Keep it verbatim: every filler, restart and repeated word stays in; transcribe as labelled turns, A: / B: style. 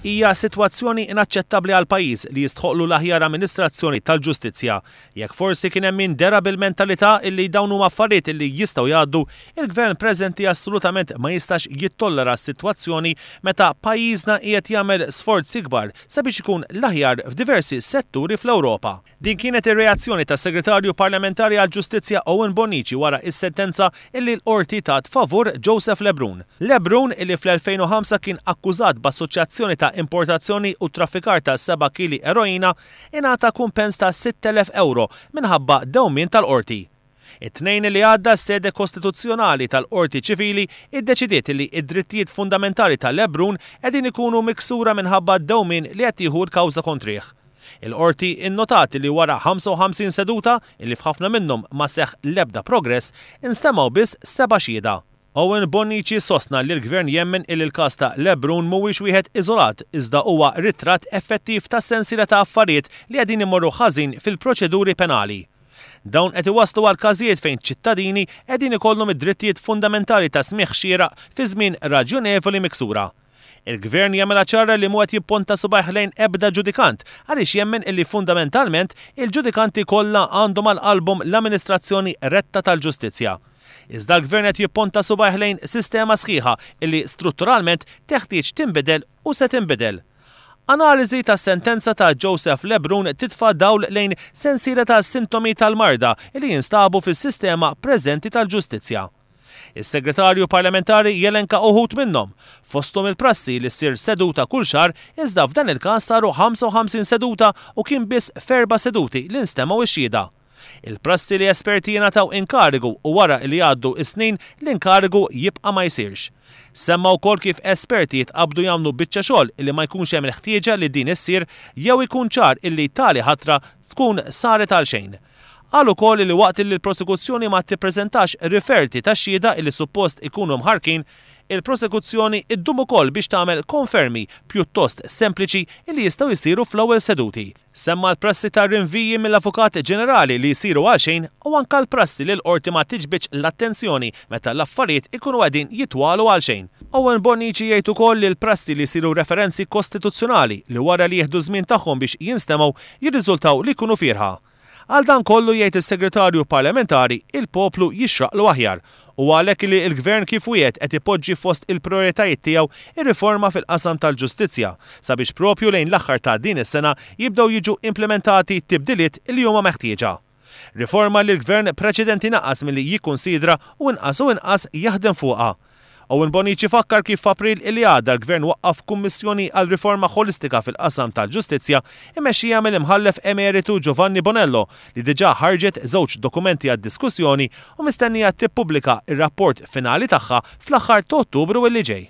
A: Hija sitwazzjoni inaċċettabbli għal pajjiż li jistħoqlu l-aħjar amministrazzjoni tal-ġustizzja. Jekk forsi kien hemm min dera bil-mentalità illi dawn huma affarijiet illi jistgħu jgħaddu, il-gvern preżenti assolutament ma jistax jittollera s-sitwazzjoni meta pajjiżna qiegħed jagħmel sforzi kbar sabiex ikun l-aħjar f'diversi setturi fl-Ewropa. Din kienet ir-reazzjoni tas-Segretarju Parlamentari għall-Ġustizzja Owen Bonnici wara is-sentenza illi l-qorti tat favur Joseph Lebrun. Lebrun, illi fl-elfejn u ħamsa kien akkużat b'assoċjazzjoni ta' importazzjoni u traffikar ta' seba' kili eroina, ingħata kumpens ta' sitt elef euro minħabba dewmien tal-qorti. It-tnejn li għadda s-sede kostituzzjonali tal-Qorti Ċivili iddeċidiet li id-drittijiet fundamentali ta' Lebrun qegħdin ikunu miksura minħabba dewmien li qed jieħu l-kawża kontrih. Il-qorti innotat li wara ħamsa u ħamsin seduta, illi f'ħafna minnhom ma seħħ l-ebda progress, instemgħu biss seba' xhieda. Owen Bonnici sostna li l-gvern jemmen illi l-każ ta' Lebrun mhuwiex wieħed iżolat, iżda huwa ritratt effettiv ta' sensiela ta' affarijiet li qegħdin imorru ħażin fil-proċeduri penali. Dawn qed iwasslu għal każijiet fejn ċittadini qegħdin ikollhom id-drittijiet fundamentali ta' smigħ xieraq fi żmien raġjonevoli miksura. Il-gvern jagħmilha ċara li mhu qed jipponta subgħajh lejn ebda ġudikant għaliex jemmen illi fundamentalment il-ġudikanti kollha għandhom għal qalbhom l-amministrazzjoni retta tal-ġustizzja. Iżda l-gvern qed jipponta subgħajh lejn sistema sħiħa illi strutturalment teħtieġ tinbidel u se tinbidel. Analiżi tas-sentenza ta' Joseph Lebrun titfa' dawl lejn sensiela ta' sintomi tal-marda li jinstabu fis-sistema preżenti tal-ġustizzja. Is-segretarju parlamentari jelenka uħud minnhom, fosthom il-prassi li ssir seduta kull xahar, iżda f'dan il-każ saru ħamsa u ħamsin seduta u kien biss f'erba' seduti li nstemgħu x-xhieda. Il-prassi li esperti jingħataw inkarigu u wara li jgħaddu is-snin l-inkarigu jibqa' ma jsirx. Semma wkoll kif esperti jitqabdu jagħmlu biċċa xogħol illi ma jkunx hemm il-ħtieġa li din issir jew ikun ċar illi tali ħatra tkun saret għal xejn. Qal ukoll li waqt li l-prosekuzzjoni ma tippreżentax riferti ta' xhieda illi suppost ikunu mħarkin, il-prosekuzzjoni iddum ukoll biex tagħmel konfermi pjuttost sempliċi illi jistgħu jsiru fl-ewwel seduti. Semma l-prassi ta' rinviji mill-Avukat Ġenerali li jsiru għal xejn u anke l-prassi li l-qorti ma tiġbidx l-attenzjoni meta l-affarijiet ikunu qegħdin jitwalu għal xejn. Owen Bonnici jgħid ukoll li l-prassi li jsiru referenzi kostituzzjonali li wara li jieħdu żmien tagħhom biex jinstemgħu jirriżultaw li jkunu fierħa. Għal dan kollu jgħid is-segretarju parlamentari il-poplu jixraqlu aħjar u għalhekk li l-gvern kif wiegħed qed ipoġġi fost il-prioritajiet tiegħu ir-riforma fil-qasam tal-ġustizzja sabiex propju lejn l-aħħar ta' din is-sena jibdew jiġu implementati tibdiliet li huma meħtieġa. Riforma li l-gvern preċedenti naqas milli jikkunsidra u inqas u inqas jaħdem fuqha. Owen Bonnici fakkar kif f'April illi għadda l-gvern waqqaf kummissjoni għal riforma ħolistika fil-qasam tal-ġustizzja imexxija mill-imħallef emeritu Giovanni Bonello li diġà ħarġet żewġ dokumenti għad-diskussjoni u mistennija tippubblika ir-rapport finali tagħha fl-aħħar ta' Ottubru illi ġej.